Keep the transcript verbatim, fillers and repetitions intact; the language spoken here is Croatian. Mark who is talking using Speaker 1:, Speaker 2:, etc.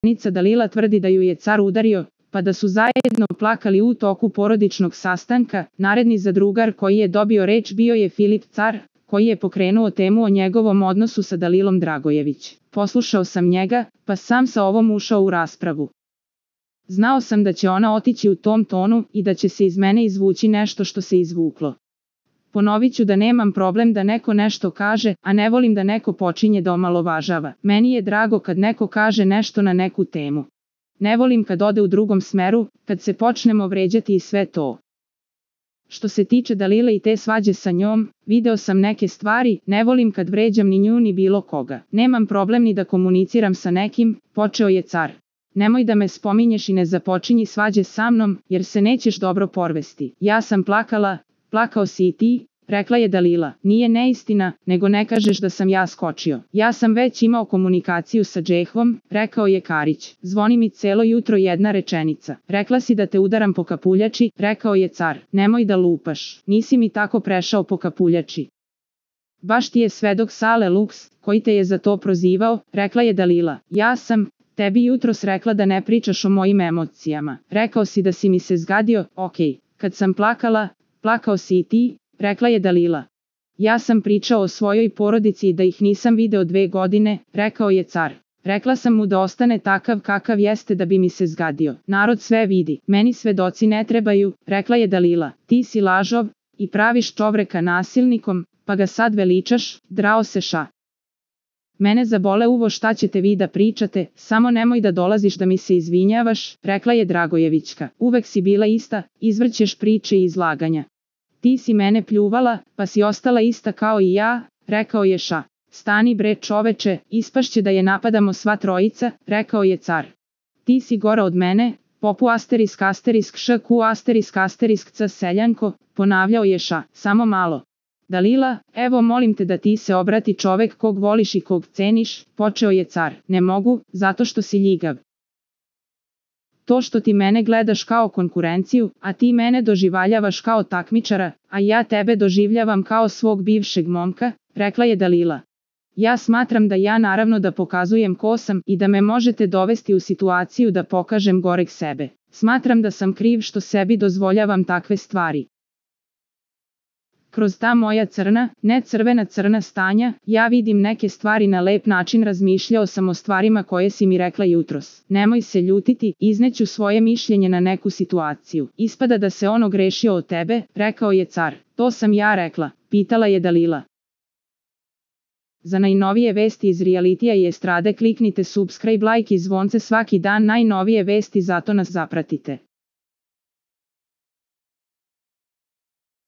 Speaker 1: poznanica Dalila tvrdi da ju je car udario, pa da su zajedno plakali u toku porodičnog sastanka. Naredni zadrugar koji je dobio reč bio je Filip Car, koji je pokrenuo temu o njegovom odnosu sa Dalilom Dragojević. Poslušao sam njega, pa sam sa ovom ušao u raspravu. Znao sam da će ona otići u tom tonu i da će se iz mene izvući nešto što se izvuklo. Ponovit ću da nemam problem da neko nešto kaže, a ne volim da neko počinje da omalovažava. Meni je drago kad neko kaže nešto na neku temu. Ne volim kad ode u drugom smeru, kad se počnemo vređati i sve to. Što se tiče Dalile i te svađe sa njom, video sam neke stvari, ne volim kad vređam ni nju ni bilo koga. Nemam problem ni da komuniciram sa nekim, počeo je car. Nemoj da me spominješ i ne započinji svađe sa mnom, jer se nećeš dobro porvesti. Ja sam plakala, plakao si i ti, rekla je Dalila. Nije neistina, nego ne kažeš da sam ja skočio. Ja sam već imao komunikaciju sa Džehvom, rekao je Karić. Zvoni mi celo jutro jedna rečenica. Rekla si da te udaram po kapuljači, rekao je car. Nemoj da lupaš, nisi mi tako prešao po kapuljači. Baš ti je svedok Sale Luks, koji te je za to prozivao, rekla je Dalila. Ja sam tebi jutros rekla da ne pričaš o mojim emocijama. Rekao si da si mi se zgadio, okej. Kad sam plakala, plakao si i ti, rekla je Dalila. Ja sam pričao o svojoj porodici i da ih nisam video dve godine, rekao je car. Rekla sam mu da ostane takav kakav jeste da bi mi se zgadio. Narod sve vidi, meni svedoci ne trebaju, rekla je Dalila. Ti si lažov i praviš čovreka nasilnikom, pa ga sad veličaš, drao se ša. Mene zabole uvo šta ćete vi da pričate, samo nemoj da dolaziš da mi se izvinjavaš, rekla je Dragojevićka. Uvek si bila ista, izvrćeš priče i izlaganja. Ti si mene pljuvala, pa si ostala ista kao i ja, rekao je ša. Stani bre čoveče, ispašće da je napadamo sva trojica, rekao je car. Ti si gora od mene, popu asterisk asterisk šku asterisk asterisk c seljanko, ponavljao je ša. Samo malo. Dalila, evo molim te da ti se obrati čovek kog voliš i kog ceniš, počeo je car. Ne mogu, zato što si ljigav. To što ti mene gledaš kao konkurenciju, a ti mene doživljavaš kao takmičara, a ja tebe doživljavam kao svog bivšeg momka, rekla je Dalila. Ja smatram da ja naravno da pokazujem ko sam i da me možete dovesti u situaciju da pokažem goreg sebe. Smatram da sam kriv što sebi dozvoljavam takve stvari. Kroz ta moja crna, ne crvena crna stanja, ja vidim neke stvari na lep način, razmišljao sam o stvarima koje si mi rekla jutros. Nemoj se ljutiti, izneću svoje mišljenje na neku situaciju. Ispada da se ono grešio od tebe, rekao je car. To sam ja rekla, pitala je Dalila. Za najnovije vesti iz realitija i estrade kliknite subscribe, like i zvonce svaki dan, najnovije vesti, zato nas zapratite.